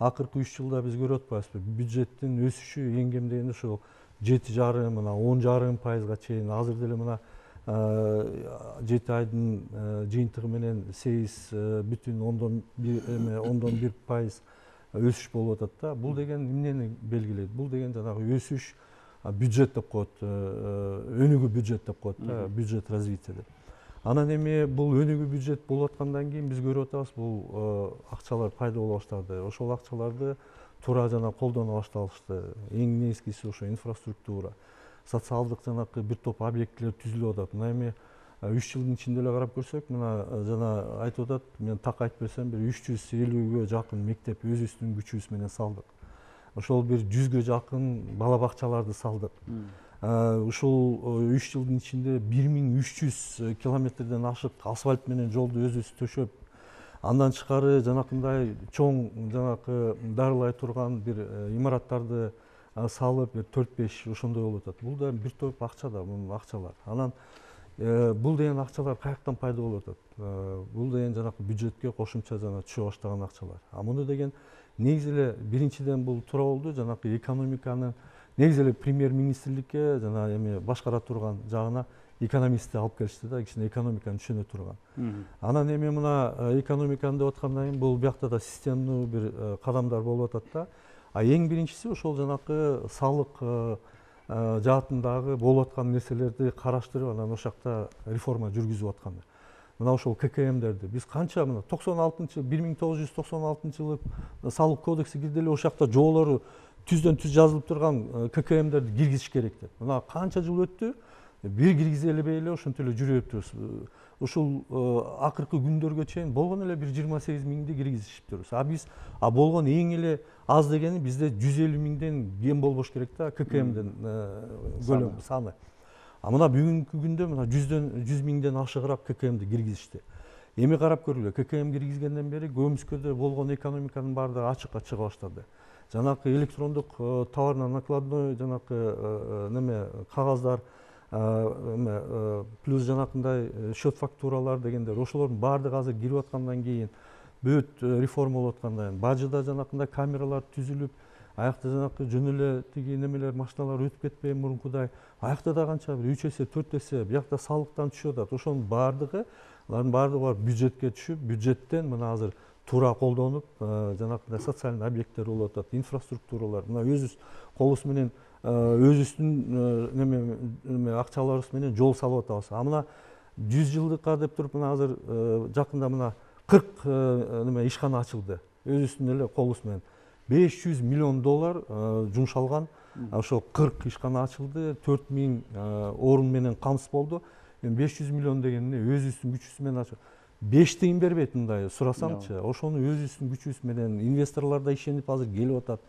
акыркы 3 жылда биз көрүп атпайбызбы, бюджеттин өсүшү эң кем дегенде ошол 7,5 мына 10,5%га чейин. Азыр деле мына 7 айдын жыйынтыгы менен 8,1% өсүш болуп атат да. Бул деген эмнени белгилейт? Бул деген жанагы өсүш бюджет деп коет, өнүгүү бюджет деп коет да, бюджет развития деп. Анан эми бул өнүгүү бюджет болуп аткандан кийин биз көрүп атабыз, бул акчалар пайда боло баштады. Ошол акчаларды туура жана колдоно башталышты. Эң негизгиси ошо инфраструктура, социалдык жанакы бир топ объектилер түзүлүп атат. Мына эми 3 жылдын ичинде эле карап көрсөк, мына жана айтып атат, мен так айтып берсем, бир 350ге жакын мектеп өзүбүздүн күчүбүз менен салдык. Ошол бир 100ге жакын бала бакчаларды салдык. Ушул 3 жылдын ичинде 1300 километрден ашык асфальт менен жолду өзүбүз төшөп, андан тышкары жанакындай чоң жанакы дарылай турган бир имараттарды салып, 4-5 ошондой болуп атат. Бул да бир топ акча да, бул акчалар. Анан бул деген акчалар каяктан пайда болуп атат? Бул деген жанакы бюджетке кошумча жана түшө баштаган акчалар. Муну деген негизи эле биринчиден бул туура болду, жанакы экономиканы негизи эле премьер-министрликке жана эми башкара турган жагына экономистти алып келишти да, кичине экономиканы түшүнө турган. Анан эми мына экономиканы деп аткандан кийин бул биякта да системдүү бир кадамдар болуп атат да. Эң биринчиси ошол жанакы салык жаатындагы болуп аткан нерселерди караштырып, анан ошол жакта реформа жүргүзүп аткан. Мына ошол ККМдерди биз канча мына 1996-жылы салык кодекси кирди эле, ошол жакта жоолору түздөн түз жазылып турган ККМдерди киргизиш керек деп. Мына канча жыл өттү, бир киргизе элебей эле ошентип эле жүрүп атабыз. Ушул акыркы күндөргө чейин болгон эле бир 28 миңди киргизишип турбуз. Биз болгон эң эле аз дегени бизде 150 миңден кем болбош керек да, ККМдин көлөмү саны. Мына бүгүнкү күндө мына 100 миңден ашыгыраак ККМди киргизишти. Эми карап көргүлө, ККМ киргизгенден бери көмүскөдө болгон экономиканын баардыгы ачыкка чыга баштады. Жанакы электрондук товарно накладной жанакы неме кагаздар, плюс жанакындай счет фактуралар дегендер, ошолордун баардыгы азыр кирип аткандан кийин, бүт реформа болуп аткандан кийин, бажыда жанакындай камералар түзүлүп, аякта жанакы жөн эле тиги немелер, машиналар өтүп кетпей мурункудай, аякта да канча бир 3 эсе 4 эсе биякта салыктан түшүп атат. Ошонун баардыгы, алардын баардыгы бюджетке түшүп, бюджеттен мына азыр туура колдонуп, жанакындай социалдык объекттер болуп атат, инфраструктуралар. Мына өзүбүз колубуз менен өзүбүздүн неме акчаларыбыз менен жол салып атабыз. Мына 100 жылдыкка деп туруп, мына азыр жакында мына 40 неме ишкана ачылды. Өзүбүздүн эле колубуз менен $500 миллион жумшалган. Ошол 40 ишкана ачылды, 4000 орун менен камсыз болду. 500 миллион деген эмне? Өзүбүздүн күчүбүз менен ачып 5 тыйын бербейт мындай сурасаңчы. Ошону өзүбүздүн күчүбүз менен инвесторлор да ишенип азыр келип атат.